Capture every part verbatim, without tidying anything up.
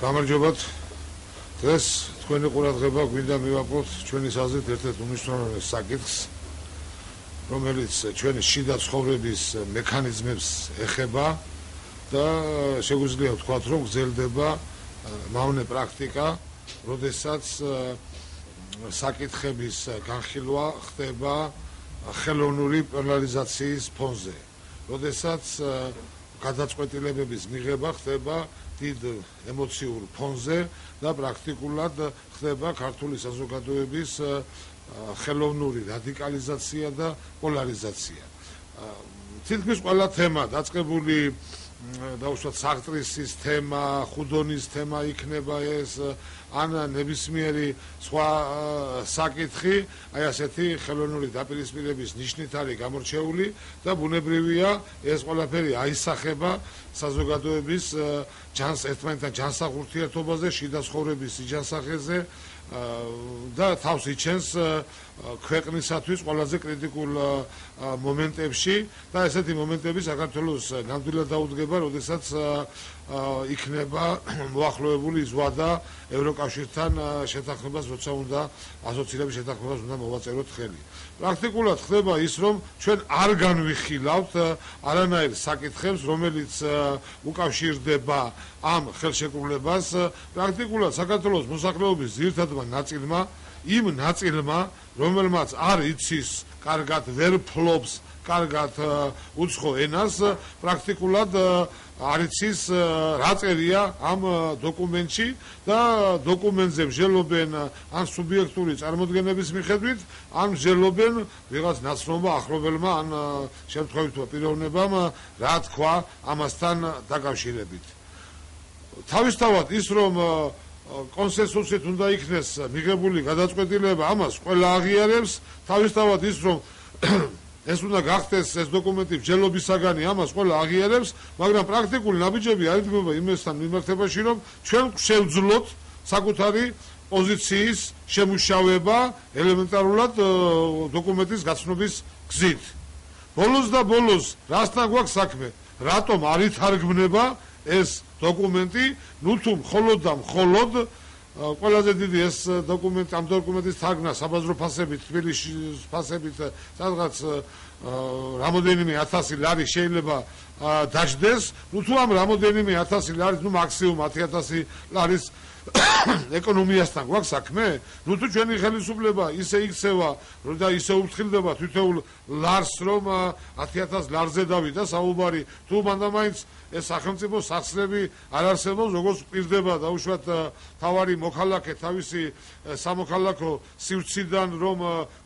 გამარჯობათ. დღეს თქვენი ყურადღება გვინდა მივაყოთ ჩვენი საზრით ერთ-ერთ უმნიშვნელოვანეს საკითხს, რომელიც ჩვენი შიდა ცხოვრების მექანიზმებს ეხება და შეგვიძლია ვთქვათ, რომ გრძელდება მავნე პრაქტიკა, როდესაც საკითხების განხილვა ხდება ხელოვნური პერსონალიზაციის ფონზე, როდესაც გადაწყვეტილებების მიღება ხდება დიდ ემოციურ ფონზე და პრაქტიკულად ხდება ქართული საზოგადოების ხელოვნური რადიკალიზაცია და პოლარიზაცია. თითქმის ყველა თემა დაწყებული დაუშვათ საღტრისის თემა, ხუდონის თემა იქნება ეს, ან ნებისმიერი სხვა საკითხი, აი ასეთი ხელოვნური დაპირისპირების ნიშნით არის გამორჩეული და ბუნებრივია ეს ყველაფერი აისახება საზოგადოების ჯანს ერთმანეთთან ჯანსაღ ურთიერთობაზე, შიდა ცხოვრების იჯანსაღეზე და თავს იჩენს ქვეყნისათვის ყველაზე კრიტიკულ მომენტებში და ესეთი მომენტები საქართველოს ნამდვილად დაუდგება, როდესაც იქნება მოახლოებული ზღვა ევროკავშირთან შეთანხმებას, როცა უნდა ასოცირების შეთანხმებას უნდა მოვაწეროთ ხელი. პრაქტიკულად ხდება ის, რომ ჩვენ არ განვიხილავთ არანაირ საკითხებს, რომელიც უკავშირდება ამ ხელშეკრულებას. პრაქტიკულად საქართველოს მოსახლეობის ძირითადმა ნაწილმა, იმ ნაწილმა, რომელმაც არ იცის კარგად, ვერ ფლობს კარგად უცხო ენას, პრაქტიკულად არ იცის რა წერია ამ დოკუმენტში და დოკუმენტზე მსჯელობენ ან სუბიექტური წარმოდგენების მიხედვით, ან მსჯელობენ ვიღაც ნაცნობმა ახლობელმა ან შემთხვევითმა პიროვნებამ რა თქვა ამასთან დაკავშირებით. თავისთავად ის, რომ კონსენსუსით უნდა იქნეს მიღებული გადაწყვეტილება, ამას ყველა აღიარებს, თავისთავად ის, რომ ეს უნდა გახდეს ეს დოკუმენტი მსჯელობისაგანი, ამას ყველა აღიარებს, მაგრამ პრაქტიკული ნაბიჯები არიდგმება იმასთან მიმართებაში, რომ ჩვენ შევძლოთ საკუთარი პოზიციის შემუშავება ელემენტარულად დოკუმენტის გაცნობის გზით. ბოლოს და ბოლოს რასთან გვაქვს საქმე? რატომ არ ითარგმნება ეს დოკუმენტი? ნუ თუ მხოლოდ და მხოლოდ ყველაზე დიდი ეს დოკუმენტი, ამ დოკუმენტის თარგმნა საბაზრო ფასებით, თბილისის ფასებით სადღაც რამოდენიმე ათასი ლარი შეიძლება დაждდეს. ნუ თუ ამ რამოდენიმე ათასი ლარის, ნუ მაქსიმუმ ათი ათასი ლარის ეკონომიასთან გვაქვს საქმე? ნუ თუ ჩვენი ხელისუფლება ისე იქცევა და ისე უფრთხილდება თითოეულ ლარს, რომ ათი ათას ლარზე დავიდა საუბარი, თუ მანდამაინც ეს სახელმწიფო სახსრები არ არსებობს, როგორც პირდება დაუშვათ თავარი მოქალაქე თავისი სამოქალაქო სივრციდან, რომ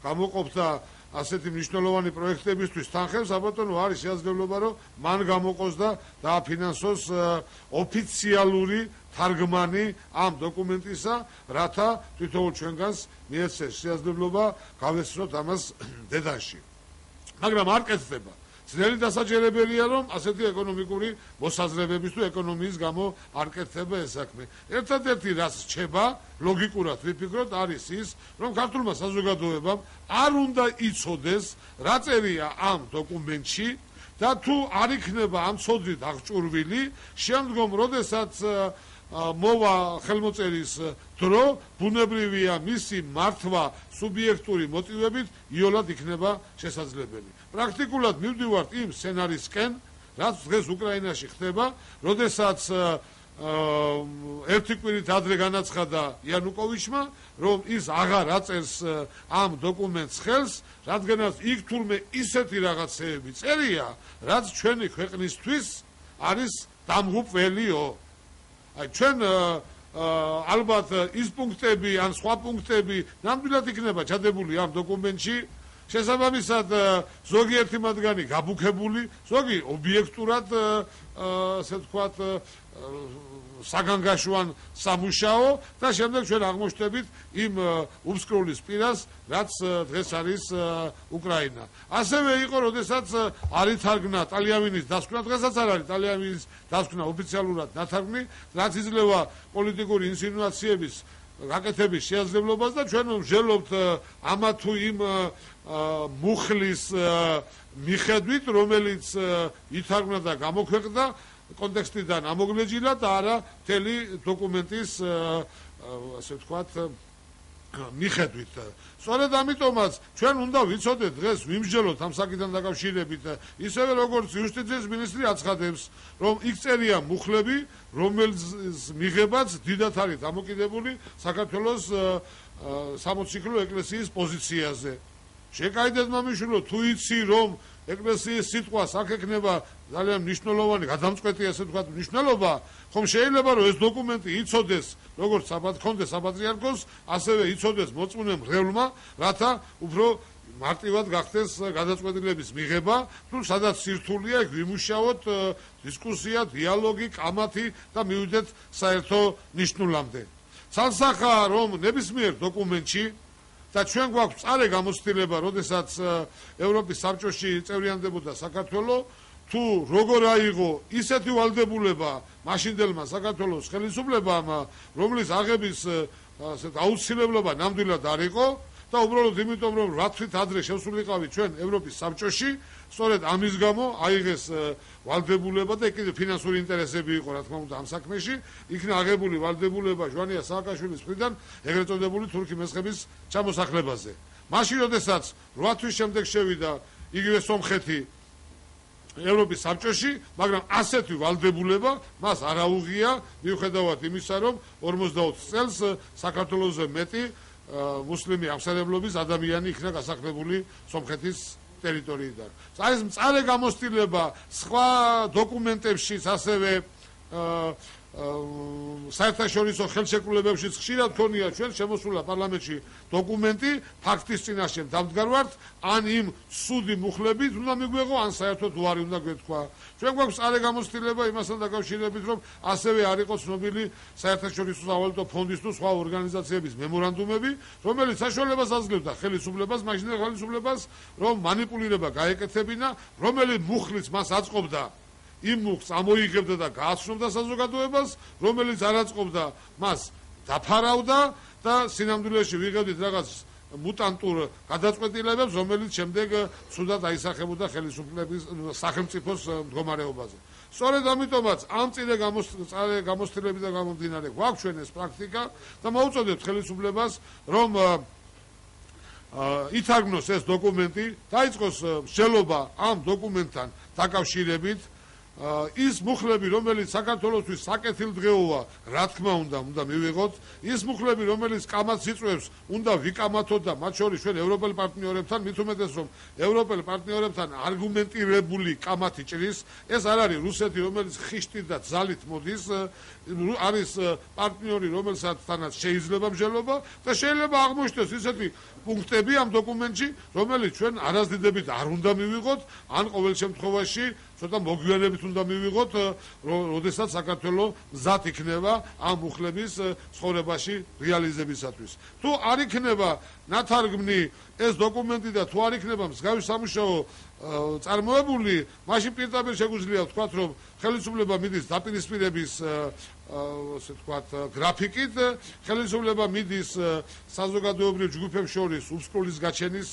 გამოყოფდა ასეთი მნიშვნელოვანი პროექტებისთვის თანხებს, აბატონო, არის შესაძლებლობა, რომ მან გამოყოს და დააფინანსოს ოფიციალური თარგმანი ამ დოკუმენტისა, რათა თითოეულ ჩვენგანს მიეცეს შესაძლებლობა გავესწროთ ამას დედანში. მაგრამ არ კეთდება. ძნელი დასაჯერებელია, რომ ასეთი ეკონომიკური მოსაზრებების თუ ეკონომიის გამო არ კეთდება ეს საქმე. ერთადერთი რაც რჩება, ლოგიკურად ვიფიქროთ, არის ის, რომ ქართულმა საზოგადოებამ არ უნდა იცოდეს რა წერია ამ დოკუმენტში და თუ არ იქნება ამ ცოდვით აღჭურვილი, შემდგომ როდესაც მოვა ხელმოწერის დრო, ბუნებრივია მისი მართვა სუბიექტური მოტივებით იოლად იქნება შესაძლებელი. პრაქტიკულად მივდივართ იმ სცენარისკენ, რაც დღეს უკრაინაში ხდება, როდესაც ერთი კვირით ადრე განაცხადა იანუკოვიჩმა, რომ ის აღარ აწერს ამ დოკუმენტს ხელს, რადგანაც იქ თურმე ისეთი რაღაცეები წერია, რაც ჩვენი ქვეყნისთვის არის დამღუპველიო. აი ჩვენ ალბათ ის პუნქტები ან სხვა პუნქტები ნამდვილად იქნება ჩადებული ამ დოკუმენტში, შესაბამისად ზოგიერთი მათგანი გაბუქებული, ზოგი ობიექტურად ასე ვთქვათ საგანგაშოვან სამუშაო და შემდეგ ჩვენ აღმოჩნდებით იმ უბსკროლის პირას, რაც დღეს არის უკრაინა. ასევე იყო, როდესაც არ ითარგმნა ტალიამინის დასკვნა, დღესაც არ არის ტალიამინის დასკვნა ოფიციალურად ნათარგმნი, რაც იძლევა პოლიტიკური ინსინუაციების გაკეთების შესაძლებლობას და ჩვენ ვმსჯელობთ ამა თუ იმ მუხლის მიხედვით, რომელიც ითარგმნა და გამოქვეყნდა კონტექსტიდან ამოგლეჯილა და არა მთელი დოკუმენტის ასე ვთქვათ მიხედვით. სწორედ ამიტომაც ჩვენ უნდა ვიცოდეთ დღეს ვიმსჯელოთ ამ საკითხთან დაკავშირებით, ისევე როგორც იუსტიციის მინისტრი აცხადებს, რომ იქ წერია მუხლები, რომელიც მიღებაც დიდად არის დამოკიდებული საქართველოს სამოციქულო ეკლესიის პოზიციაზე. შეკაიდეთ მამიშვილო, თუ იცი რომ ეკლესიის სიტყვას აქ ექნება ძალიან მნიშვნელოვანი გადამწყვეტი ასე ვთქვათ მნიშვნელობა, ხომ შეიძლება რომ ეს დოკუმენტი იცოდეს როგორც საბათქონდეს საპატრიარქოს, ასევე იცოდეს მოწმუნე მრევლმა, რათა უფრო მარტივად გახდეს გადაწყვეტილების მიღება, თუ სადაც სირთულეა იქ ვიმუშაოთ დისკუსია, დიალოგი, კამათი და მივიდეთ საერთო ნიშნულამდე. ცალსახაა რომ ნებისმიერ დოკუმენტში და ჩვენ გვაქვს წარე გამოცდილება, როდესაც ევროპის საბჭოში წევრიანდებოდა საქართველო, თუ როგორ აიღო ისეთი ვალდებულება მაშინდელმა საქართველოს ხელისუფლებამ, რომლის აღების ასეთ აუცილებლობა ნამდვილად არ იყო და უბრალოდ იმიტომ რომ რა თვით ადრე შევსულიყავი ჩვენ ევროპის საბჭოში, სწორედ ამის გამო აიღეს ვალდებულება და კიდევ ფინანსური ინტერესები იყო რა თქმა უნდა ამ საქმეში, იქნა აღებული ვალდებულება ჟვანია სააკაშვილის მხრიდან ეგრეთ წოდებული თურქი მესხების ჩამოსახლებაზე. მაშინ როდესაც რვა თვის შემდეგ შევიდა იგივე სომხეთი ევროპის საბჭოში, მაგრამ ასეთი ვალდებულება მას არ აუღია მიუხედავად იმისა, რომ ორმოცდაოთხ წელს საქართველოზე მეტი მუსლიმი აღმსარებლობის ადამიანი იქნა გასახლებული სომხეთის ტერიტორიიდან. ეს მწარე გამოცდილება სხვა დოკუმენტებშიც ასევე საერთაშორისო ხელშეკრულებებშიც ხშირად ქონია ჩვენ შემოსულა პარლამენტში დოკუმენტი ფაქტის წინაშე დამდგარვართ, ან იმ სუდი მუხლებით უნდა მიგვეღო, ან საერთოდ უარი უნდა გვეთქვა. ჩვენ გვაქვს წარე გამოცდილება იმასთან დაკავშირებით, რომ ასევე არ იყო ცნობილი საერთაშორისო სავალუტო ფონდის თუ სხვა ორგანიზაციების მემორანდუმები, რომელიც საშუალებას აძლევდა ხელისუფლებას, მაშინდელ ხელისუფლებას, რომ манипуლირება გაეკეთებინა, რომელი მუხლიც მას აწყობდა იმ მუხლს ამოიღებდა და გააცნობდა საზოგადოებას, რომელიც არ აწყობდა მას დაფარავდა და სინამდვილეში ვიღებდით რაღაც მუტანტურ გადაწყვეტილებებს, რომელიც შემდეგ ცუდად აისახებოდა ხელისუფლების სახელმწიფოს მდგომარეობაზე. სწორედ ამიტომაც ამ წინე გამოცდილებიდან გამომდინარე გვაქვს ჩვენ ეს პრაქტიკა და მოუწოდებთ ხელისუფლებას, რომ ითარგმნოს ეს დოკუმენტი, დაიწყოს მსჯელობა ამ დოკუმენტთან დაკავშირებით. ის მუხლები, რომელიც საქართველოსთვის საკეთილდღეოა, რა თქმა უნდა, უნდა მივიღოთ. ის მუხლები, რომელიც კამათს იწვევს, უნდა ვიკამათოთ და მათ შორის ჩვენ ევროპელ პარტნიორებთან, მით უმეტეს რომ ევროპელ პარტნიორებთან არგუმენტირებული კამათი ჭრის. ეს არ არის რუსეთი, რომელიც ხიშტით და ძალით მოდის, არის პარტნიორი, რომელსაც შეიძლება მსჯელობა და შეიძლება აღმოჩნდეს ისეთი პუნქტები ამ დოკუმენტში, რომელიც ჩვენ არასდიდებით არ უნდა მივიღოთ, ან ყოველ შემთხვევაში ცოტა მოგვიანებით უნდა მივიღოთ, როდესაც საქართველო მზად იქნება ამ მუხლების ცხოვრებაში რეალიზებისათვის. თუ არ იქნება ნათარგმნი ეს დოკუმენტი და თუ არ იქნება მსგავსი სამუშაო წარმოებული, მაშინ პირდაპირ შეგვიძლია ვთქვათ, რომ ხელისუფლება მიდის დაპირისპირების ასე ვთქვათ გრაფიკით, ხელისუფლება მიდის საზოგადოებრივ ჯგუფებს შორის უსწრულის გაჩენის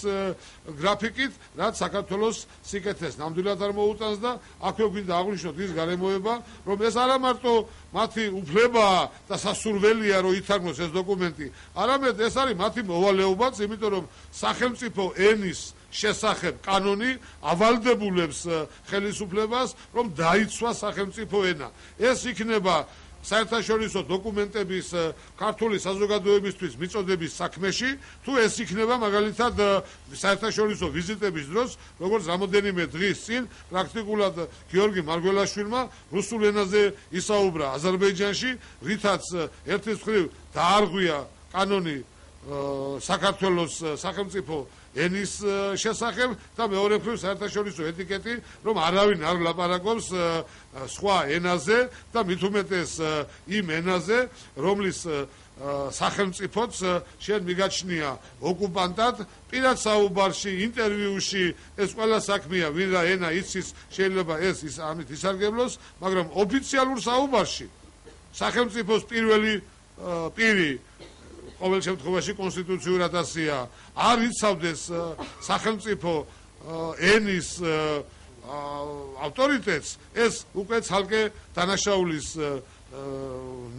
გრაფიკით, რაც საქართველოს სიკეთეს ნამდვილად არ მოუტანს და აქვე გვინდა აღვნიშნოთ ის გარემოება, რომ ეს არა მარტო მათი უფლებაა და სასურველია, რომ ითარგმნოს ეს დოკუმენტი, არამედ ეს არის მათი მოვალეობაც, იმიტომ რომ სახელმწიფო ენის შესახებ კანონი ავალდებულებს ხელისუფლებას, რომ დაიცვა სახელმწიფო ენა. ეს იქნება საერთაშორისო დოკუმენტების ქართული საზოგადოებისთვის მიწოდების საქმეში, თუ ეს იქნება მაგალითად საერთაშორისო ვიზიტების დროს, როგორც რამოდენიმე დღის წინ პრაქტიკულად გიორგი მარგველაშვილმა რუსულ ენაზე ისაუბრა აზერბაიჯანში, რითაც ერთის მხრივ დაარღვია კანონი საქართველოს სახელმწიფო ენის შესახებ და მეორე მხრივ საერთაშორისო ეტიკეტი, რომ არავინ არ ლაპარაკობს სხვა ენაზე და მით უმეტეს იმ ენაზე, რომლის სახელმწიფოც შენ მიგაჩნია ოკუპანტად, პირად საუბარში, ინტერვიუში, ეს ყველა საქმეა, ვინ რა ენა იცის, შეიძლება ეს ის ამით ისარგებლოს, მაგრამ ოფიციალურ საუბარში სახელმწიფოს პირველი პირი ყოველ შემთხვევაში კონსტიტუციურად ასია არ იცავდეს სახელმწიფო ენის ავტორიტეტს, ეს უკვე ცალკე დანაშაულის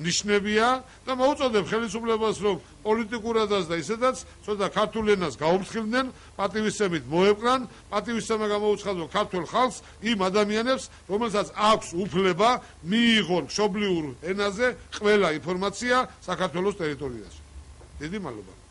ნიშნებია და მოუწოდებ ხელისუფლებას, რომ პოლიტიკურადაც და ისედაც ცოტა ქართულ ენას გაუფრთხილდნენ, პატივისცემით მოეპყრან, პატივისცემა გამოუცხადონ ქართულ ხალხს, იმ ადამიანებს, რომელსაც აქვს უფლება მიიღონ მშობლიურ ენაზე ყველა ინფორმაცია საქართველოს ტერიტორიაზე. დიდი მადლობა.